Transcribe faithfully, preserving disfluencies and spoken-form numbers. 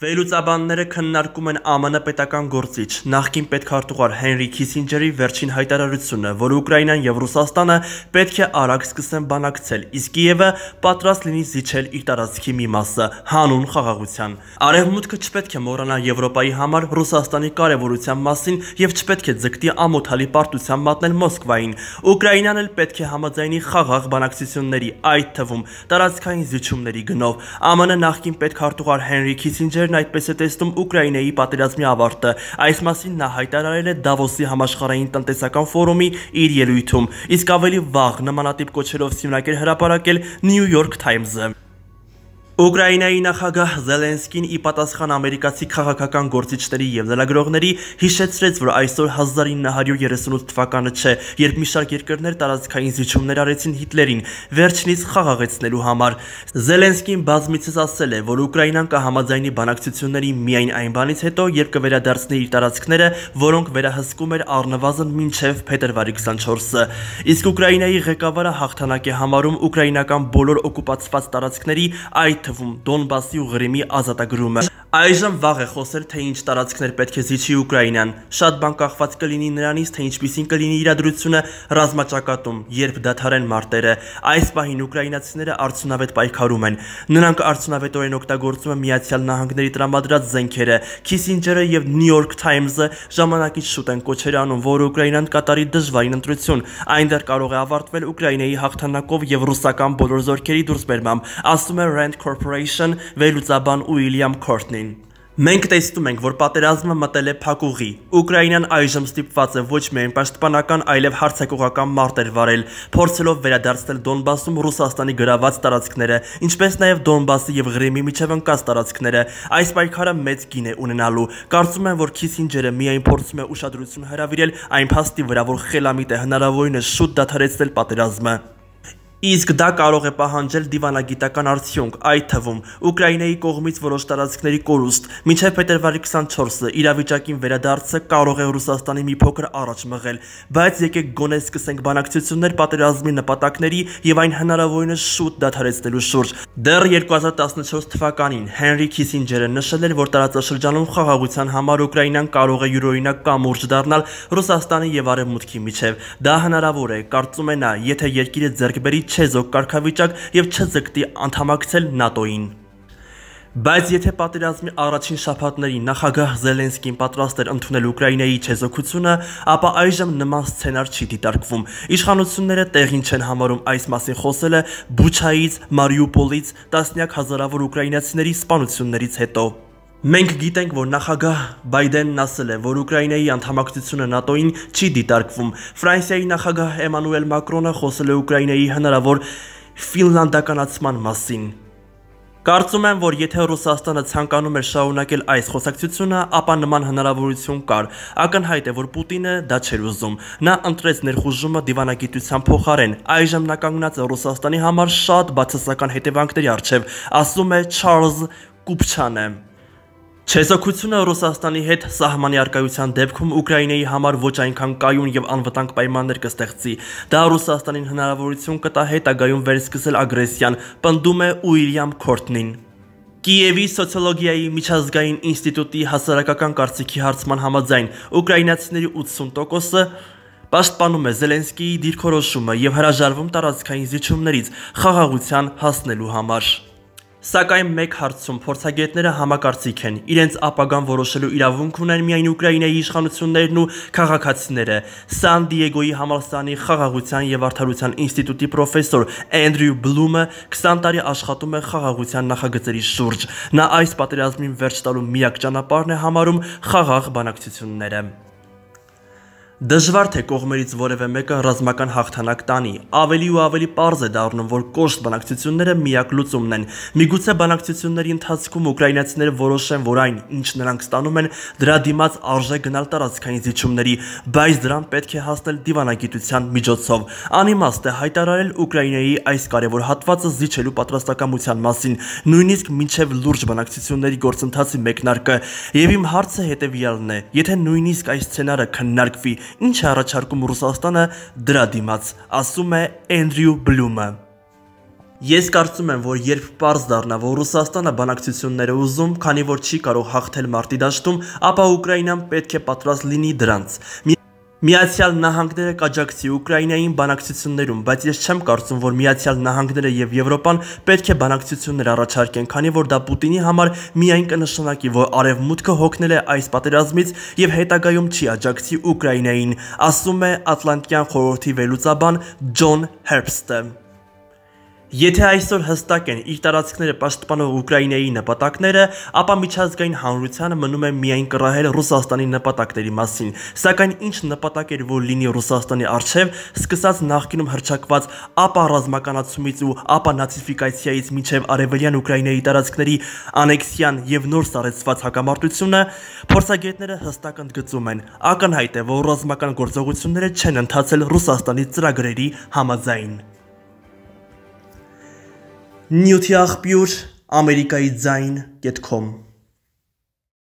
Վերլուծաբանները քննարկում են ԱՄՆ պետական գործիչ նախկին պետքարտուղար Հենրի Քիսինջերի վերջին հայտարարությունը, որ Ուկրաինան եւ Ռուսաստանը պետք է արագ սկսեն բանակցել, իսկ Կիևը պատրաստ լինի զիջել իր տարածքի մի մասը հանուն խաղաղության։ Արևմուտքը չպետք է մոռանա Եվրոպայի համար Ռուսաստանի կարևորության մասին եւ չպետք է ձգտի ամոթալի պարտության մատնել Մոսկվային։ Ուկրաինան էլ պետք է համաձայնի խաղաղ բանակցությունների, այդ թվում տարածքային զիջումների գնով։ ԱՄՆ նախկին պետքարտուղար Հենրի Քիսինջերն այդպես է տեսնում Ուկրաինայի պատերազմի ավարտը։ Այս մասին նա հայտարարել է Դավոսի համաշխարհային տնտեսական ֆորումի իր ելույթում, իսկ ավելի վաղ նմանատիպ կոչերով սյունակ էր հրապարակել New York Times-ը։ Ուկրաինայի նախագահ Զելենսկին ի պատասխան ամերիկացի քաղաքական գործիչների եւ լրագրողների հիշեցրեց, որ այսօր հազար ինը հարյուր երեսունութ թվականը չէ, երբ մի շարք երկրներ տարածքային զիջումներ արեցին Հիտլերին վերջինիս խաղաղեցնելու համար։ Զելենսկին բազմիցս ասել է, որ Ուկրաինան կհամաձայնի բանակցությունների միայն այն բանից հետո, երբ կվերադարձնի իր տարածքները, որոնք վերահսկում էր առնվազն մինչև փետրվարի քսանչորսը։ Իսկ Ուկրաինայի ղեկավարը հաղթանակ է համարում ուկրաինական բոլոր օկուպացված տարածքների, այդ թվում Դոնբասի ու Ղրիմի ազատագրումը։ Այժմ վաղ է խոսել, թե ինչ տարածքներ պետք է զիջի Ուկրաինան։ Շատ բան կախված կլինի նրանից, թե ինչպիսին կլինի իրադրությունը ռազմաճակատում, երբ դադարեն մարտերը։ Այս պահին ուկրաինացիները արդյունավետ պայքարում են։ Նրանք արդյունավետորեն օգտագործում են Միացյալ Նահանգների տրամադրած զենքերը։ Քիսինջերը եւ New York Times-ը ժամանակից շուտ են կոչեր անում, որ Ուկրաինան կատարի դժվարին ընտրություն։ Այն դեռ կարող է ավարտվել Ուկրաինայի հաղթանակով եւ ռուսական բոլոր զորքերի դուրսբերմամբ, ասում է Rand Corporation վերլուծաբան Ուիլյամ Քորտնին։ Մենք տեսնում ենք, որ պատերազմը մտել է փակուղի։ Ուկրաինան այժմ ստիպված է ոչ միայն պաշտպանական, այլև հարձակողական մարտեր վարել, փորձելով վերադարձնել Դոնբասում Ռուսաստանի գրաված տարածքները, ինչպես նաև Դոնբասի եւ Ղրիմի միջև ընկած տարածքները։ Այս պայքարը մեծ գին է ունենալու։ Կարծում եմ, որ Քիսինջերը միայն փորձում է ուշադրություն հրավիրել այն փաստի վրա, որ խելամիտ է հնարավորինս շուտ դադարեցնել պատերազմը։ Իսկ դա կարող է պահանջել դիվանագիտական արդյունք, այդ թվում Ուկրաինայի կողմից որոշ տարածքների կորուստ, մինչև փետրվարի քսանչորսը իրավիճակին վերադարձը կարող է Ռուսաստանի մի փոքր առաջ մղել, բայց եկեք գոնե սկսենք բանակցություններ պատերազմի նպատակների եւ այն հնարավորինս շուտ դադարեցնելու շուրջ։ Դեռ երկու հազար տասնչորս թվականին Հենրի Քիսինջերը նշել էր, որ տարածաշրջանում խաղաղության համար Ուկրաինան կարող է յուրօրինակ կամուրջ դառնալ Ռուսաստանի եւ Արևմուտքի միջև։ Դա հնարավոր է, կարծում է նա, եթե երկիրը ձեռք բերի չեզոք կարգավիճակ եւ չձգտի անդամակցել ՆԱՏՕ-ին։ Բայց եթե պատերազմի առաջին շաբաթներին նախագահ Զելենսկին պատրաստ էր ընդունել Ուկրաինայի չեզոքությունը, ապա այժմ նման սցենար չի դիտարկվում։ Իշխանությունները տեղին չեն համարում այս մասին խոսելը Բուչայից, Մարիուպոլից տասնյակ հազարավոր ուկրաինացիների սպանություններից հետո։ Մենք գիտենք, որ նախագահ Բայդենն ասել է, որ Ուկրաինայի անդամակցությունը ՆԱՏՕ-ին չի դիտարկվում։ Ֆրանսիայի նախագահ Էմանուել Մակրոնը խոսել է Ուկրաինայի հնարավոր ֆինլանդականացման մասին։ Կարծում եմ, որ եթե Ռուսաստանը ցանկանում էր շարունակել այս խոսակցությունը, ապա նման հնարավորություն կար։ Ակնհայտ է, որ Պուտինը դա չէր ուզում։ Նա ընտրեց ներխուժումը դիվանագիտության փոխարեն։ Այժմ նա կանգնած է Ռուսաստանի համար շատ բացասական հետևանքների առջև, ասում է Չարլզ Կուպչանը։ Չեզոքությունը Ռուսաստանի հետ սահմանի առկայության դեպքում Ուկրաինայի համար ոչ այնքան կայուն եւ անվտանգ պայմաններ կստեղծի։ Դա Ռուսաստանին հնարավորություն կտա հետագայում վերսկսել ագրեսիան, պնդում է Ուիլյամ Քորտնին։ Կիևի սոցիոլոգիայի միջազգային ինստիտուտի հասարակական կարծիքի հարցման համաձայն ուկրաինացիների ութսուն տոկոսը պաշտպանում է Զելենսկիի դիրքորոշումը եւ հրաժարվում տարածքային զիջումներից խաղաղության հասնելու համար։ Սակայն մեկ հարցում փորձագետները համակարծիք են, իրենց ապագան որոշելու իրավունք ունեն միայն Ուկրաինայի իշխանություններն ու քաղաքացիները։ Սան Դիեգոյի համալսարանի խաղաղության եւ արդարության ինստիտուտի պրոֆեսոր Էնդրյու Բլումը քսան տարի աշխատում է խաղաղության նախագծերի շուրջ։ Նա այս պատերազմին վերջ տալու միակ ճանապարհն է համարում խաղաղ բանակցությունները։ Դժվար թե կողմերից որևէ մեկը ռազմական հաղթանակ տանի, ավելի ու ավելի պարզ է դառնում, որ կոշտ բանակցությունները միակ լուծումն են։ Միգուցե բանակցությունների ընթացքում ուկրաինացիները որոշեն, որ այն, ինչ նրանք ստանում են, դրա դիմաց արժե գնալ տարածքային զիջումների, բայց դրան պետք է հասնել դիվանագիտության միջոցով։ Անիմաստ է հայտարարել Ուկրաինայի այս կարևոր հատվածը զիջելու պատրաստակամության մասին, նույնիսկ մինչև լուրջ բանակցությունների գործընթացի մեկնարկը։ Եվ իմ հարցը հետևյալն է. եթե նույնիսկ այս սցենարը քննարկվի, ինչ է առաջարկում Ռուսաստանը դրա դիմաց, ասում է Էնդրյու Բլումը։ Ես կարծում եմ, որ երբ պարզ դառնա, որ Ռուսաստանը բանակցություններ է ուզում, քանի որ չի կարող հաղթել մարտի դաշտում, ապա Ուկրաինան պետք է պատրաստ լինի դրանց։ Միացյալ Նահանգները կաջակցի Ուկրաինային բանակցություններում, բայց ես չեմ կարծում, որ Միացյալ Նահանգները եւ Եվրոպան պետք է բանակցություններ առաջարկեն, քանի որ դա Պուտինի համար միայն կնշանակի, որ Արևմուտքը հոգնել է այս պատերազմից եւ հետագայում չի աջակցի Ուկրաինային, ասում է Ատլանտյան խորհրդի վերլուծաբան Ջոն Հերբստը։ Եթե այսօր հստակ են իր տարածքները պաշտպանող Ուկրաինայի նպատակները, ապա միջազգային հանրությանը մնում է միայն կռահել Ռուսաստանի նպատակների մասին, սակայն ինչ նպատակ էր որ լինի Ռուսաստանի առջև, սկսած նախկինում հռչակված ապա ռազմականացումից ու ապա նացիֆիկացիայից մինչև արևելյան Ուկրաինայի տարածքների անեքսիան եւ նոր սառեցված հակամարտությունը, փորձագետները հստակ ընդգծում են, ակնհայտ է, որ ռազմական գործողությունները չեն ընթացել Ռուսաստանի ծրագրերի համաձայն։ Նյութի աղբյուր ամերիկայի ձայն կետ կոմ